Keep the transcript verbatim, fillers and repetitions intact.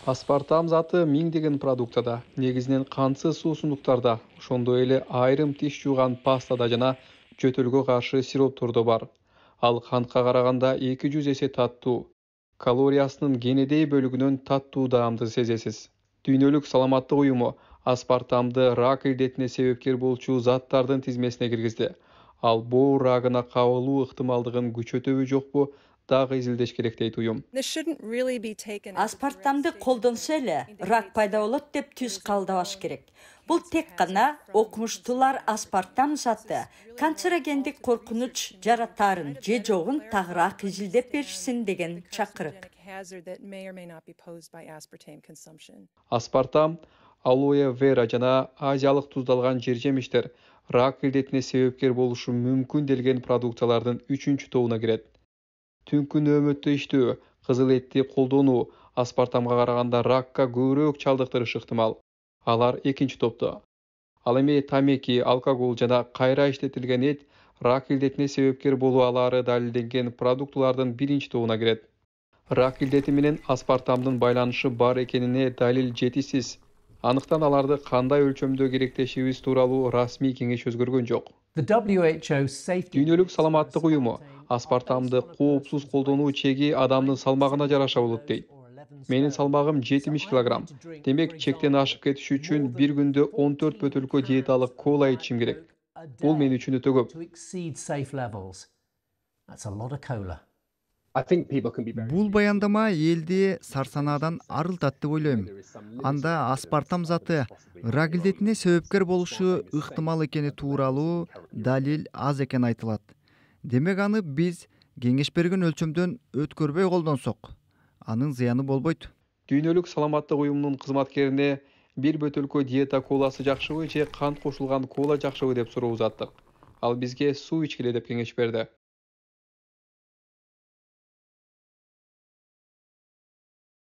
Аспартам заты миңдеген продуктада, негизинен кантсыз суусундуктарда, ошондой эле айрым тиш жууган пастада жана жөтөлгө каршы сироптордо бар. Ал кантка караганда эки жүз эсе таттуу. Калориясынын кенедей бөлүгүнөн таттуу даамды сезесиз. Дүйнөлүк саламаттык уюму аспартамды рак илдетине себепкер болчу заттардын тизмесине киргизди. Ал боор рагына кабылуу ыктымалдыгын күчөтөбү жокпу, дагы изилдеш керек дейт уюм. Аспартамды колдонсо эле рак пайда болот деп түз кабылдабаш керек. Бул тек гана окумуштуулар аспартам заты канцерогендик коркунуч жаратаарын же жогун тагыраак изилдеп беришсин деген чакырык. Аспартам, алоэ вера жана азиялык туздалган жер-жемиштер рак илдетине себепкер болушу мүмкүн делген продукциялардын үчүнчү тобуна кирет. Түнкү нөөмөттө иштөө, кызыл этти колдонуу аспартамга караганда ракка көбүрөөк чалдыктырышы ыктымал. Алар экинчи топто. Ал эми тамеки, алкоголь жана кайра иштетилген эт рак илдетине себепкер болуу алаары далилденген продуктылардын биринчи тобуна кирет. Рак илдети менен аспартамдын байланышы бар экенине далил жетишсиз. Андыктан аларды кандай өлчөмдө керектешибиз тууралуу расмий кеңеш өзгөргөн жок. Дүйнөлүк саламаттык уюму аспартамды коопсуз колдонуу чеги адамдын салмагына жараша болот дейт. Менин салмагым жетимиш килограмм. Демек, чектен ашып кетиш үчүн бир күндө он төрт бөтөлкө диеталык кола ичим керек. Бул мен үчүн өтө көп. Бул баяндама элди сарсанаадан арылтат деп ойлойм. Анда аспартам заты рак илдетине себепкер болушу ыктымал экени тууралуу далил аз экени айтылат. Демек аны биз кеңеш берген өлчөмдөн өткөрбөй колдонсок, анын зыяны болбойт. Дүйнөлүк саламаттык уюмунун кызматкерине бир бөтөлкө диета коласы жакшыбы же кант кошулган кола жакшыбы деп суроо узаттык. Ал бизге суу ичкиле деп кеңеш берди.